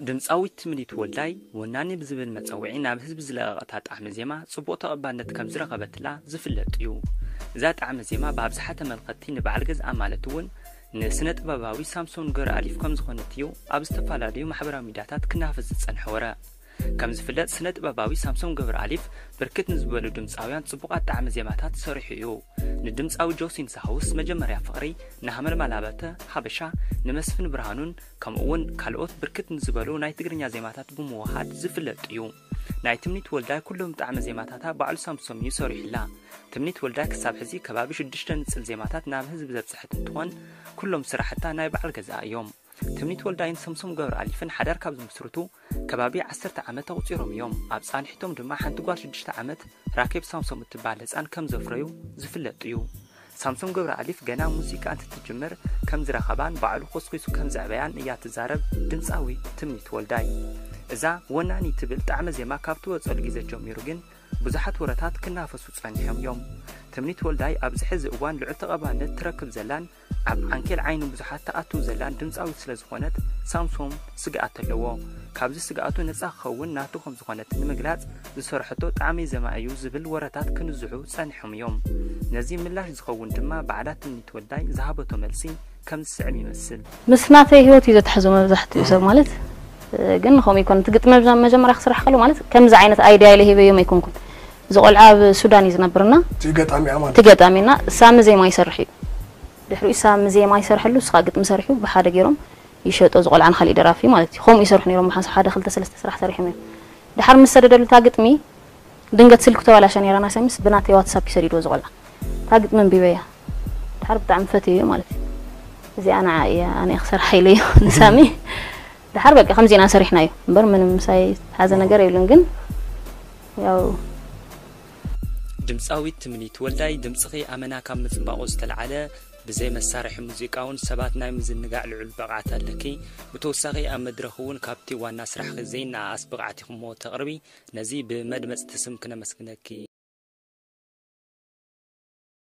ድምፃዊት ትምኒት ወልዳይ ወናኒ ብዝብል መፀውዒ ናብ ህዝቢ ዝለቐቐታ ጣዕሚ ዜማ ፅቡቕ ተቐባልነት ከም ዝረኸበትላ ዝፍለጥ እዩ። እዛ ጣዕሚ ዜማ ብኣብዝሓ ተመልኸትቲ ንበዓል ገዝኣ ማለት እውን ንስነ ጥበባዊ ሳምሶን ገብረኣሊፍ ከም ዝኾነት እዩ ኣብ ዝተፈላለዩ ማሕበራዊ ሚዲያታት ክናፈስ ዝፀንሐ ወረ። ከም ዝፍለጥ ስነ ጥበባዊ ሳምሶን ገብረኣሊፍ ብርክት ንዝበሉ ድምፃውያን ፅቡቓት ጣዕሚ ዜማታት ሰሪሑ እዩ። ንድምፃዊ ጆሲን ሳሆስ መጀመርያ ፍቕሪ፣ ንሃመልማል ኣባተ፣ ሓበሻ፣ ንመስፍን ብርሃኑን ከምኡ እውን ካልኦት ብርክት ንዝበሉ ናይ ትግርኛ ዜማታት ብምውሃድ ዝፍለጥ እዩ። ናይ ትምኒት ወልዳይ ኩሎም ጣዕሚ ዜማታታ ባዕሉ ሳምሶም እዩ ሰሪሑላ። ትምኒት ወልዳይ ክሳብ ሕዚ ከባቢ ሽዱሽተ ንፅል ዜማታት ናብ ህዝቢ ዘብፅሐት እንትኾን ኩሎም ስራሕታ ናይ በዓል ገዝኣ እዮም። ትምኒት ወልዳይን ሰምሶም ገብረኣሊፍን ሓዳር ካብ ዝምስርቱ ከባቢ ዓሰርተ ዓመት ኣቑፂሮም እዮም። ኣብ ፃንሒቶም ድማ ሓንቲ ጓል ሽዱሽተ ዓመት ራኬብ ሳምሶም እትበሃል ህፃን ከም ዘፍረዩ ዝፍለጥ እዩ። ሳምሶም ገብረኣሊፍ ገና ሙዚቃ እንትትጅምር ከም ዝረኸባን ባዕሉ ኮስኪሱ ከም ዘዕበያን እያ ትዛረብ ድምፃዊት ትምኒት ወልዳይ። እዛ ወናኒ ትብል ጣዕመ ዜማ ካብ ትወፀሉ ግዜ ጀሚሩ ግን ብዙሓት ወረታት ክናፈሱ ጸኒሖም እዮም። ትምኒት ወልዳይ ኣብዚ ሕዚ እዋን ልዑል ተቐባልነት ትረክብ ዘላን ኣብ ዓንኬል ዓይኒ ብዙሓት ትኣቱ ዘላን ድምጻዊት ስለ ዝኾነት ሳምሶም ስግኣት ኣለዎ። ካብዚ ስግኣቱ ነጻ ክኸውን ናቱ ከም ዝኾነት ንምግላጽ ዝሰርሐቶ ጣዕመይ ዜማ እዩ ዝብል ወረታት ክንዝሑ ጸኒሖም እዮም። ነዚ ምላሽ ዝኸውን ድማ ባዕላ ትምኒት ወልዳይ ዝሃበቶ መልሲ ከም ዝስዕብ ይመስል። ምስ ናተይ ህይወት እዩ ዘትሕዞ መብዛሕትኡ ሰብ ማለት፣ እ፣ ግን ከምኡ ይኮን። እቲ ግጥሚ መብዛ-፣ መጀመርያ ክስራሕ ከሎ ማለት ከምዚ ዓይነት ኣይድያ ኢለ ሂበዮም ኣይኮንኩን። እዚ ቆልዓ ኣብ ሱዳን እዩ ዝነብርና። እቲ ገጣሚ እያ ማለት እቲ ገጣሚና ሳሚ ዜማ ይሰርሕ እዩ። ድሕሪኡ ሳሚ ዜማ ይሰርሐሉ፣ ንሱ ከዓ ግጥሚ ሰሪሑ ብሓደ ገይሮም ይሸጦ። እዚ ቆልዓ ንካሊእ ደራፊ ማለት እዩ። ከምኡ ይሰርሑ ነይሮም። መሓንሳብ ሓደ ክልተ ሰለስተ ስራሕ ሰሪሖም እዮም። ድሓር ምስ ሰደደሉ እታ ግጥሚ ድንገት ስልኩ ተባላሻ ነይራ ናይ ሳሚስ ብናተይ ዋትሳፕ ይሰዲድዎ እዚ ቆልዓ። እታ ግጥሚ ኣንቢበያ። ድሓር ብጣዕሚ ፈትየዮ ማለት እዩ። እዚኣ ንዓ እያ፣ ኣነ እየ ክሰርሓ ኢለዮ ንሳሚ። ድሓር በቃ ከምዚ ኢና ሰሪሕናዮ እምበር ምንም ምሳይ ዝሓዘ ነገር የብሉን። ግን ያው ድምጻዊት ትምኒት ወልዳይ፣ ድምጽኺ ኣመና ካብ ምጽባቑ ዝተልዓለ ብዘይ መሳርሒ ሙዚቃ እውን ሰባት ናይ ምዝንጋዕ ልዑል ብቕዓት ኣለኪ። ብተወሳኺ ኣብ መድረኽ እውን ካብቲ ዋና ስራሕኺ ዘይነኣኣስ ብቕዓት ኢኹሞ ተቕርቢ። ነዚ ብመድመጽቲ ስም ክነመስግነኪ